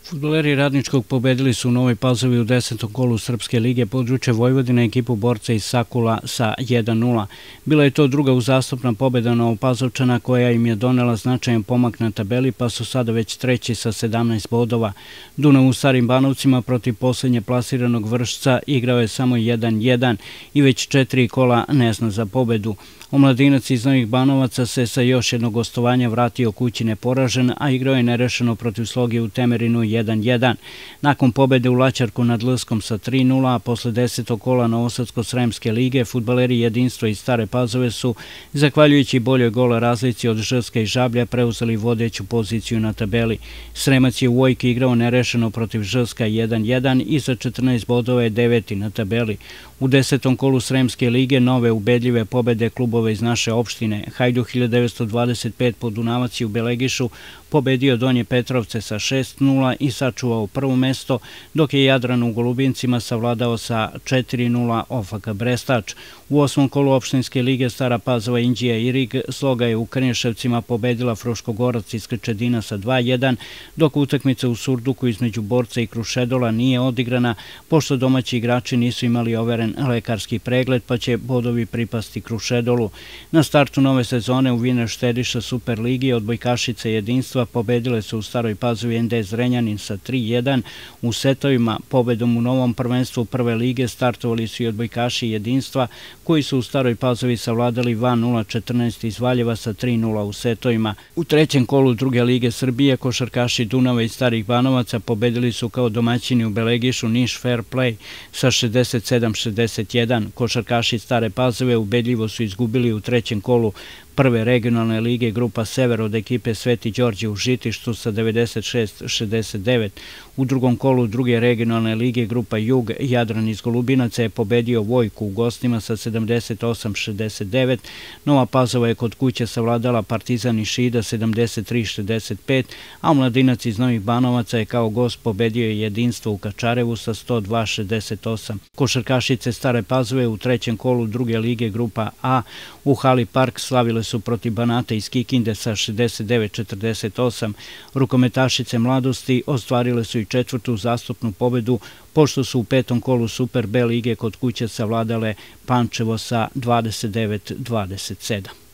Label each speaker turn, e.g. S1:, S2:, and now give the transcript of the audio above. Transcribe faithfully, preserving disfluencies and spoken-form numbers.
S1: Fudbaleri Radničkog pobedili su u Novoj Pazovi u desetom kolu Srpske lige područja Vojvodine ekipu borca iz Sakula sa jedan nula. Bila je to druga uzastopna pobeda Novopazovčana koja im je donela značajan pomak na tabeli, pa su sada već treći sa sedamnaest bodova. Dunav u Starim Banovcima protiv posljednje plasiranog Vršca igrao je samo jedan jedan i već četiri kola ne zna za pobedu. Omladinac iz Novih Banovaca se sa još jednog gostovanja vratio kući neporažen, a igrao je nerešeno protiv Sloge u Temerinu jedan jedan. Nakon pobede u Laćarku nad Lskom sa tri nula, a posle desetog kola Novosadsko-Sremske lige, fudbaleri Jedinstvo iz Stare Pazove su, zahvaljujući boljoj gol razlici od Žrska i Žablja, preuzeli vodeću poziciju na tabeli. Sremac je u Vojki igrao nerešeno protiv Žrska jedan jedan i sa četrnaest bodova je deveti na tabeli. U desetom kolu Sremske lige nove ubedljive pobede klubova iz naše opštine. Hajduk hiljadu devetsto dvadeset pet Podunavac je u Belegišu pobedio Donje Petrovce sa šest nula i sačuvao prvo mesto, dok je Jadran u Golubincima savladao sa četiri nula Ofaka Brestač. U osmom kolu opštinske lige Stara Pazova, Inđija i Rig Sloga je u Krnješevcima pobedila Fruškogorac iz Krčedina sa dva jedan, dok utakmica u Surduku između Borca i Krušedola nije odigrana, pošto domaći igrači nisu imali overen lekarski pregled, pa će bodovi pripasti Krušedolu. Na startu nove sezone u Viner Štediša Superligi odbojkašice Jedinstva pobedile su u Staroj Pazovi en de Zrenjanin sa tri jedan. U setovima pobedom u novom prvenstvu prve lige startovali su i odbojkaši Jedinstva, koji su u Staroj Pazovi savladali Van nula četrnaest iz Valjeva sa tri nula u setovima. U trećem kolu druge lige Srbije košarkaši Dunava i Starih Banovaca pobedili su kao domaćini u Belegišu Niš Fair Play sa šezdeset sedam šezdeset jedan. Košarkaši Stare Pazove ubedljivo su izgubili u trećem kolu prve regionalne lige Grupa Sever od ekipe Sveti Đorđe u Žitištu sa devedeset šest šezdeset devet. U drugom kolu druge regionalne lige Grupa Jug Jadran iz Golubinaca je pobedio Vojku u gostima sa sedamdeset osam šezdeset devet. Nova Pazova je kod kuće savladala Partizan iz Šida sedamdeset tri šezdeset pet, a Omladinac iz Novih Banovaca je kao gost pobedio Jedinstvo u Kačarevu sa sto dva šezdeset osam. Košarkašice Stare Pazove u trećem kolu druge lige Grupa A u hali Park slavile su protiv Banata iz Kikinde sa šezdeset devet četrdeset osam. Rukometašice Mladosti ostvarile su i četvrtu uzastopnu pobedu, pošto su u petom kolu Super B lige kod kuće savladale Pančevo sa dvadeset devet dvadeset sedam.